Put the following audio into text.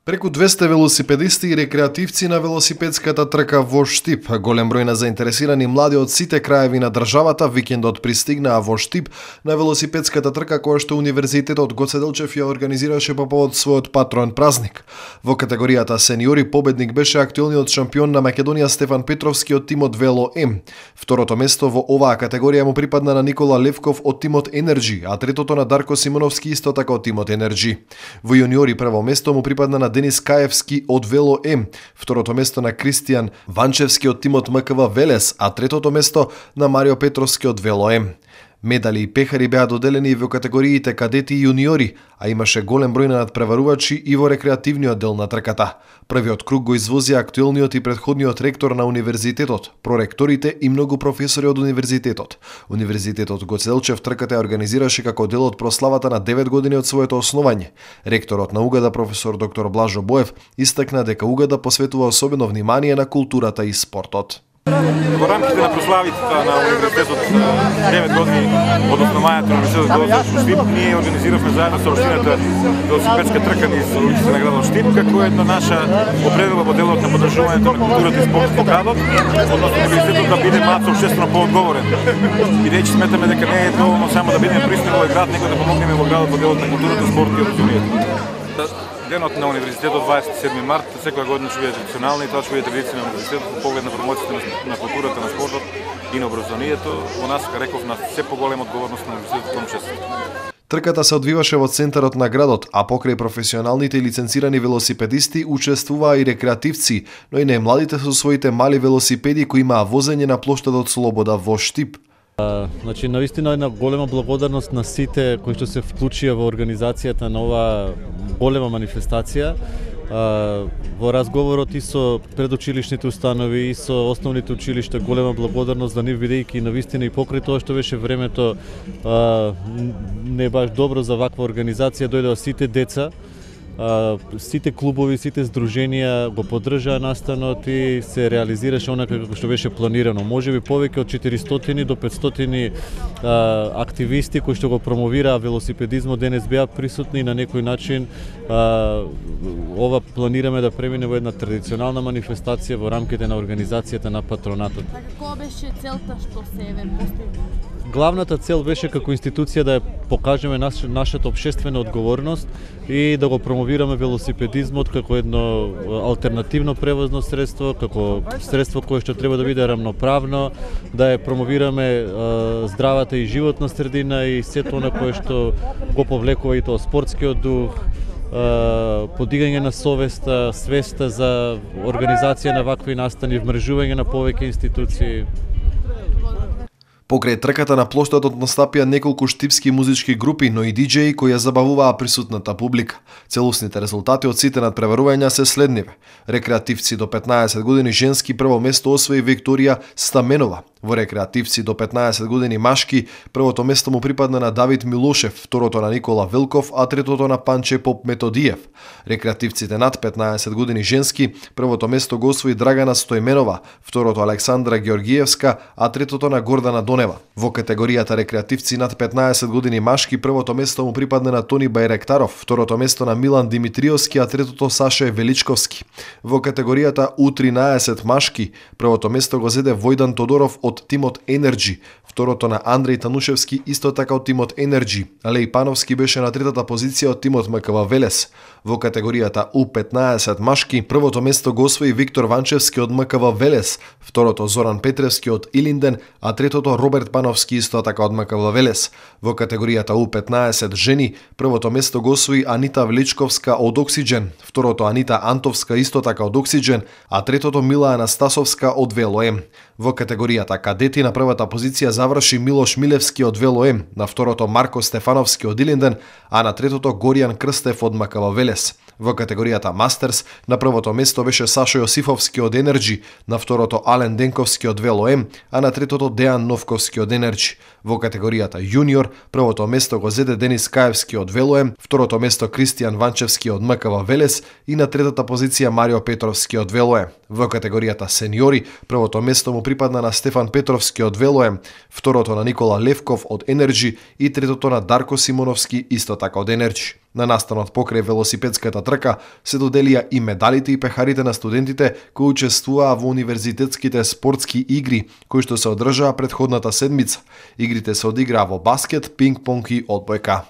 Преку 200 велосипедисти и рекреативци на велосипедската трка во Штип. Голем број на заинтересирани млади од сите краеви на државата викендот пристигнаа во Штип на велосипедската трка која што Универзитетот Гоце Делчев ја организираше по повод својот патроен празник. Во категоријата сениори победник беше актуелниот шампион на Македонија Стефан Петровски од тимот Вело М. Второто место во оваа категорија му припадна на Никола Левков од тимот Енерджи, а третото на Дарко Симоновски исто така од тимот Енерджи. Во јуниори прво место му припадна на Денис Каевски од Вело М, второто место на Кристијан Ванчевски од тимот МКВ Велес, а третото место на Марио Петровски од Вело М. Медали и пехари беа доделени во категориите кадети и јуниори, а имаше голем број на надпреварувачи и во рекреативниот дел на трката. Првиот круг го извозија актуелниот и претходниот ректор на универзитетот, проректорите и многу професори од универзитетот. Универзитетот Гоце Делчев трката ја организираше како дел од прославата на 9 години од своето основање. Ректорот на УГД професор доктор Блажо Боев истакна дека УГД посветува особено внимание на културата и спортот. Во рамките на прославите на универзитетот 9 години од основањето на универзитетот во Штип, ние организиравме заедно со општината велосипедска трка низ улиците на градот Штип, како една наша определба во делот на подржувањето на културата и спортот во градот, односно универзитетот да биде малку општествено поодговорен. Бидејќи сметаме дека не е доволно само да бидеме присутни во град, него да помогнеме во градот во делот на културата, спортот и образованието. Денот на универзитетот 27 март секоја година ќе биде традиционална и тоа ќе биде традиција на универзитетот во поглед на промоцијата на културата, на спортот и на образованието. Во нас, како реков, на се поголема одговорност на универзитетот кон честот. Трката се одвиваше во центарот на градот, а покрај професионалните и лиценцирани велосипедисти учествуваа и рекреативци, но и најмладите со своите мали велосипеди кои имаа возење на плоштадот Слобода во Штип. Значи, навистина една голема благодарност на сите кои што се вклучија во организацијата на оваа голема манифестација. Во разговорот и со предучилишните установи и со основните училишта голема благодарност за нив, бидејќи навистина и покрај тоа што беше времето не баш добро за ваква организација, дојдоа сите деца, сите клубови, сите здруженија го поддржаа настанот и се реализираше онака како што беше планирано. Можеби повеќе од 400 до 500 активисти кои што го промовираа велосипедизмот денес беа присутни и на некој начин ова планираме да премине во една традиционална манифестација во рамките на организацијата на патронатот. Која беше целта што се постигна? Главната цел беше како институција да ја покажеме нашата општествена одговорност и да го промовираме велосипедизмот како едно алтернативно превозно средство, како средство кое што треба да биде рамноправно, да ја промовираме здравата и животна средина и сето она кое што го повлекува и тоа спортскиот дух, подигање на свеста за организација на вакви настани, вмрежување на повеќе институции. Покрај трката на плоштадот настапија неколку штипски музички групи, но и диџеи кои ја забавуваа присутната публика. Целосните резултати од сите надпреварувања се следниве. Рекреативци до 15 години женски прво место освои Викторија Стаменова. Во рекреативци до 15 години машки првото место му припадна на Давид Милошев, второто на Никола Велков, а третото на Панче Поп Методиев. Рекреативците над 15 години женски првото место го освои Драгана Стојменова, второто Александра Георгиевска, а третото на Гордана Донева. Во категоријата рекреативци над 15 години машки првото место му припадна на Тони Бајректаров, второто место на Милан Димитриовски, а третото Саше Величковски. Во категоријата U13 машки првото место го зеде Војдан Тодоров од тимот Енерджи, второто на Андреј Танушевски исто така од тимот Енерджи. Алеј Пановски беше на третата позиција од тимот МКВ Велес. Во категоријата U15 машки првото место го освои Виктор Ванчевски од МКВ Велес, второто Зоран Петревски од Илинден, а третото Роберт Пановски исто така од МКВ Велес. Во категоријата U15 жени првото место го освои Анита Величковска од Оксиџен, второто Анита Антовска исто така од Оксиџен, а третото Мила Анастасовска од Вело М. Во категоријата кадети на првата позиција заврши Милош Милевски од Вело М, на второто Марко Стефановски од Илинден, а на третото Горијан Крстев од МКВ Велес. Во категоријата Мастерс на првото место беше Сашо Јосифовски од Енерджи, на второто Ален Денковски од Вело М, а на третото Дејан Новковски од Енерджи. Во категоријата Јуниор првото место го зеде Денис Каевски од Вело М, второто место Кристијан Ванчевски од МКВ Велес и на третата позиција Марио Петровски од Вело М. Во категоријата сениори првото место му припадна на Стефан Петровски од Вело М, второто на Никола Левков од Енерджи и третото на Дарко Симоновски исто така од Енерджи. На настанот покрај велосипедската трка се доделија и медалите и пехарите на студентите кои учествуваа во универзитетските спортски игри, кои што се одржаа претходната седмица. Игрите се одиграа во баскет, пинг-понг и одбојка.